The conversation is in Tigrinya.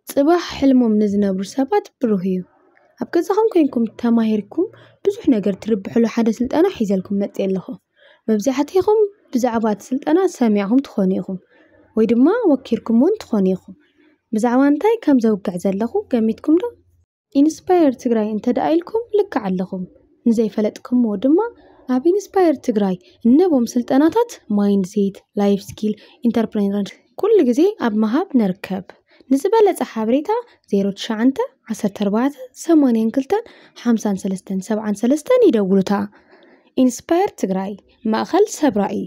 ጽባሕ ሕልሞም ንዝነብሩ ሰባት ብሩህ እዩ። ኣብ ገዛኹም ኮይንኩም ተማሂርኩም ብዙሕ ነገር ትርብሕሉ ሓደ ስልጠና ሒዘልኩም መጽእ ኣለኹ። መብዛሕትኹም ብዛዕባ እቲ ስልጠና ሰሚዕኹም ትኾኑ ኢኹም፣ ወይ ድማ ወኪርኩም እውን ትኾኑ ኢኹም። ብዛዕባ እንታይ ከም ዘውግዕ ዘለኹ ገሚትኩም ዶ? ኢንስፓየር ትግራይ እንተ ደኣ ኢልኩም ልክዕ ኣለኹም። ንዘይፈለጥኩምዎ ድማ ኣብ ኢንስፓየር ትግራይ እነቦም ስልጠናታት ማይንድሴት፣ ላይፍ ስኪል፣ ኢንተርፕረነር ኩሉ ግዜ ኣብ ምሃብ ንርከብ። ንዝበለጸ ሓበሬታ ዜሮ ትሽዓተ ዓሰርተ ኣርባዕተ ሰማንያን ክልተን ሓምሳን ሰለስተን ሰብዓን ሰለስተን ይደውሉታ። ኢንስፓየር ትግራይ፣ ማእኸል ሰብ ራእይ።